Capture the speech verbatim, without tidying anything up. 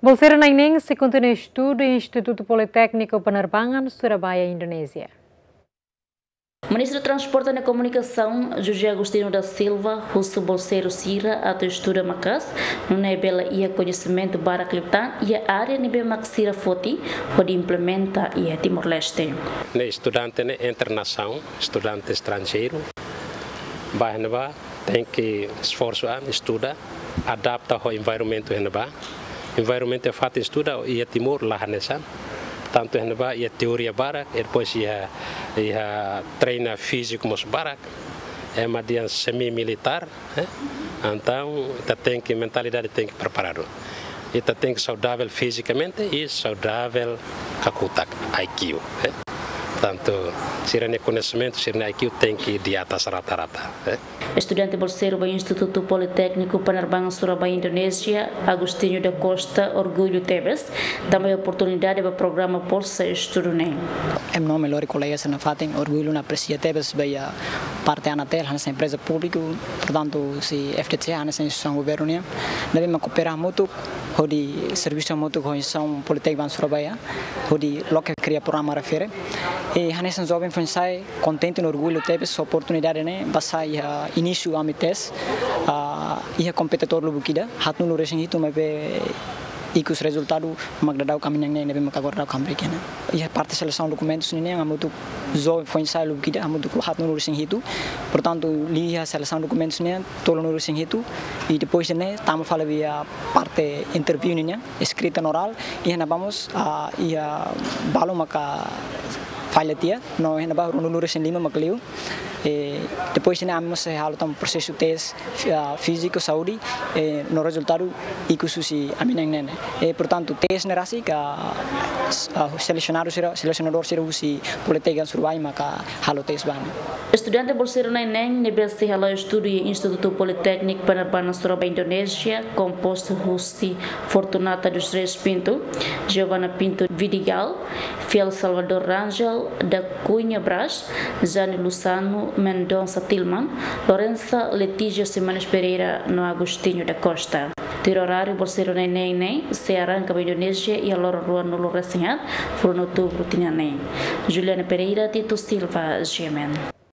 Bolseiru na'in-neen sei kontinua estudu iha Institutu Politékniku Penerbangan, Surabaya, Indonézia. Ministru Transporte no Komunikasaun, José Agostinho da Silva, husu bolseiru sira atu estuda maka'as, nune'e bele iha koñesimentu barak liután iha área ne'ebé mak sira foti hodi implementa iha Timor-Leste. Ne'e estudante ne'e internasionál, estudante estranjeiru, ba iha ne'ebá tenke esforsu an, estuda, adapta ho environmentu iha ne'ebá. Environmentu iha fatin estuda iha Timor la hanesan. Tantu iha ne'ebá iha teoria barak, e depois iha, iha treina fíziku mós barak. Ema dehan semi-militár, eh? Entaun, ita tenke, mentalidade tenke preparadu. Ita tenke saudavel fizikamente i saudavel kakutak, I Q, eh? Tantu, sira-nia koñesimentu, sira-nia I Q tenke di atas rata-rata, eh? Estudante bolseiru ba Institutu Politékniku Penerbangan Surabaya, Indonézia, Agostinho da Costa, orgullu tebes tanba iha oportunidade ba programa bolsa estudu ne'e. Ema nome lori kolega sira nafatin, orgullu no apresia tebes ba iha parte ANATEL, hanesan empreza públiku, portantu, sei F D C, hanesan instituisaun governu nian, ne'ebé mak koopera hamutuk, hodi servisu hamutuk ho instituisaun Politékniku Surabaya, hodi loke kria programa refere. I hanesan joven foin-sa'e, kontente no orgullu tebes ho oportunidade ne'e, basá iha inísiu ami tes, ah, iha kompetidór lubuk ida, haatnulu-resin-hitu maibé ikus rezultadu mak daudaun ami na'in-neen ne'ebé mak agora daudaun ami rikena. Iha parte selesaun dokumentus nian hamutuk joven foin-sa'e lubuk ida, hamutuk haatnulu-resin-hitu. Portantu, liuhusi selesaun dokumentus nian tolunulu-resin-hitu. I depois de ne'e, tama fali ba iha parte interview nian, eskrita no orál, iha ne'ebá mós, ah, iha balu maka falla tiha, no iha ne'ebá ruanulu-resin-lima mak liu. E depois de ne'e ami mós sei halo tan prosesu tes, ah, fíziku, saúde, e no rezultadu ikus husi ami na'in-neen. E portantu, tes ne'e rasik, ah, selesionadu sira, selesionadór sira husi Politékniku Surabaya maka halo tes ba ami. Estudante bolseiru na'in-neen ne'ebé sei hala'o estudu iha Institutu Politékniku Penerbangan Surabaya, Indonézia, kompostu husi Fortunata dos Reis Pinto, Giovana Pinto Vidigal, Fiel Salvador Rangel, da Cunha Braz, Jane Luzano, Mendonça Tilman, Lorenza Letícia Ximenes Pereira no Agostinho da Costa. Tuir oráriu, bolseiru na'in-neen ne'e sei arranka ba Indonézia iha loron ruanulu-resin-haat fulan outubru tinan ne'e. Juliana Pereira, Tito Silva, G M N.